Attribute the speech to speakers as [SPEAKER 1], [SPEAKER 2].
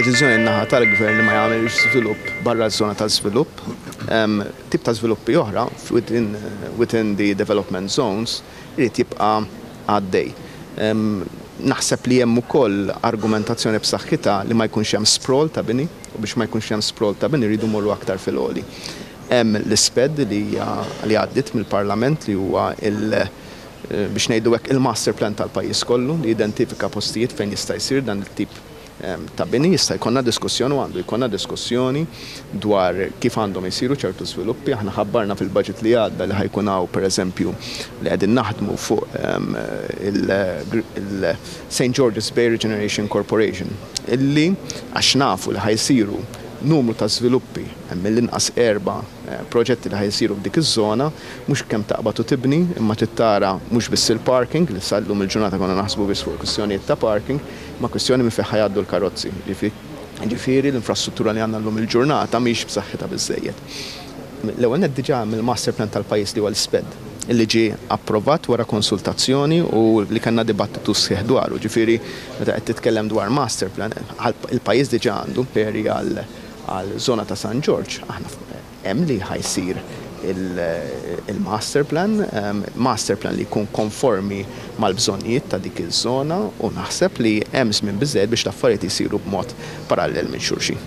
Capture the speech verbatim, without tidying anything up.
[SPEAKER 1] Deċiżjoni naħa tal-gvern li ma jagħmilx żvilupp barra ż-żona ta' żvilupp. Tip ta' żviluppi oħra within, within the development zones irid jibqa' għaddej. Naħseb li hemm ukoll argumentazzjoni b'saħħitha li ma jkunx hemm sprawl ta' bini, u biex ma jkunx hemm sprawl ta' bini rridu morru aktar fil-għoli. Hemm l-ISPED li li għaddit mill-Parlament, li huwa il- biex ngħidu hekk, il-master plan tal-pajjiż kollu li identifika postijiet fejn jista' jsir dan it-tip ta' bini. Jista' jkollna diskussjoni u għandu jkollna diskussjoni dwar kif għandhom isiru ċertu żviluppi. Aħna ħabbarna fil-budget li għadda li ħa jkun hawn, pereżempju, li qegħdin naħdmu fuq il-Saint George's Bay Regeneration Corporation, illi għax nafu li ħa jsiru numru ta' żviluppi, hemm mill-inqas erba' proġetti li ħa jsiru f'dik iż-żona, mhux kemm taqbad u tibni, imma tittara mhux biss il-parking, li sal-lum il-ġurnata konna naħsbu biss fuq kwistjonijiet ta' parking, ma kwistjoni minn fejn ħa jgħaddu l-karozzi. Ġifieri l-infrastruttura li għandna llum il-ġurnata mhix b'saħħitha biżejjed. L-ewwel nett diġà mill-master plan tal-pajjiż, li huwa l-ISPED, illi ġie approvat wara konsultazzjoni u li kellna dibattitu sħiħ dwaru. Ġifieri meta qed titkellem dwar master plan, il-pajjiż diġà għandu peri għal għal zona ta' San Ġorġ, aħna hemm li ħa jsir il-master plan, master plan li jkun konformi mal-bżonnijiet ta' dik iż-żona, u naħseb li hemm żmien biżejjed biex l-affarijiet isiru b'mod parallel minn xulxin.